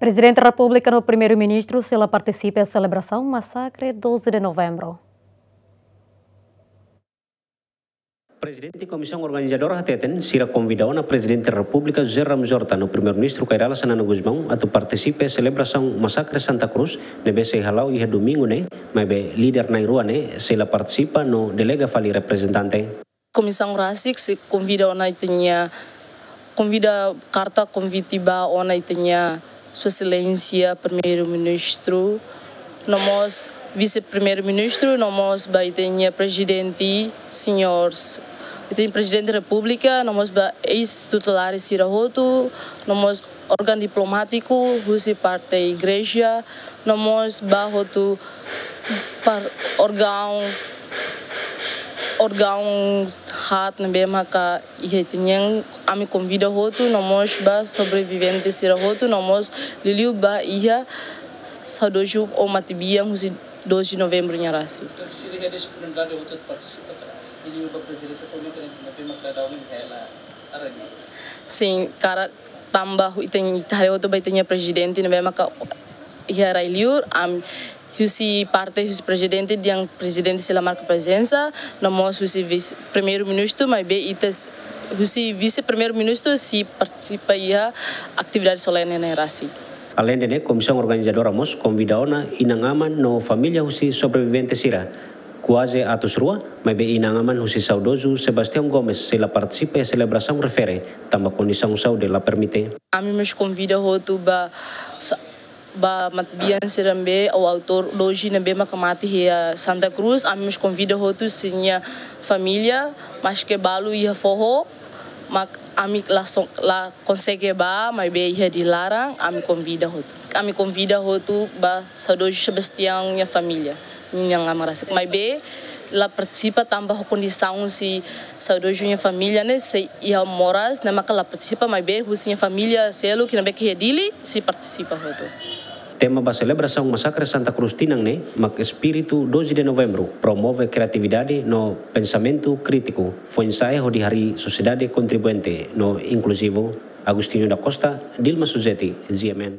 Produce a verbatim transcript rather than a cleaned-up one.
Prezidente Repúblika no Primeiru-Ministru sei la partisipa selebrasaun masakre doze de Novembru. Prezidente Komisaun Organizadora hateten, sira konvida ona Prezidente Repúblika José Ramos Horta no Primeiru-Ministru Kay Rala Xanana Gusmão atu partisipa selebrasaun masakre Santa Cruz, ne'ebé sei hala'o iha domingu ne'e, maibé líder na'in-rua ne'e sei la partisipa no delega fali reprezentante. Komisaun rasik sei konvida ona ita-nia, konvida karta konvite ba ona ita-nia Sua Exelénsia Primeiru-Ministru, no mós Vise-Primeiru-Ministru, no mós ba ita-nia Prezidente, señór, ita-nia Prezidente Repúblika, no mós ba eis-titulares sira hotu, no mós órgaun diplomátiku, husi parte igreja, no mós ba hotu par órgaun, órgaun haat ne'ebé maka iha ita-nian, ami konvida hotu, no mós ba sobrevivente sira hotu, no mós liuliu ba iha saudozu ou matebian husi doze de Novembru nia rasik. Sira iha disponibilidade hotu atu partisipa ka lae? Liuliu ba Prezidente Repúblika ne'e maka daudaun hela aranya. Sin, karik tanba ita, ita haree hotu ba ita-nia Prezidente ne'ebé maka iha rai-liur, ami husi parte husi Prezidente dehan Prezidente sei la marka prezensa, no mós husi Vise-Primeiru-Ministru, maibé ita s-, husi Vise-Primeiru-Ministru sei partisipa iha atividade solene ne'e rasik. Aleinde ne'e, Komisaun Organizadora mós konvida ona inan-aman no família husi sobrevivente sira, kuaze atus rua, maibé inan-aman husi saudozu Sebastião Gomes sei la partisipa iha selebrasaun refere, tanba kondisaun saúde la permite. Ami mós konvida hotu ba sa-, ba matebian sira ne'ebé ou autór doze ne'ebé maka mate iha Santa Cruz, ami mós konvida hotu sira-nia família, maske balu iha foho, mak ami la so-, la konsege bá, maibé iha di laran, ami konvida hotu. Ami konvida hotu ba saudozu Sebastião nia família, nia inan-aman rasik. Maibé la partisipa tanba ho kondisaun husi saudozu nia família ne'e sei iha moras, ne'e maka la partisipa, maibé husi nia família seluk ne'ebé iha Dili sei partisipa hotu. Tema ba selebrasaun masakre Santa Cruz tinan ne'e mak espíritu doze de Novembru, promove kriatividade no pensamentu krítiku, foin-sa'e hodi harii sosiedade kontribuinte no inkluzivu. Agostinho da Costa, Dilma Suzeti, G M N.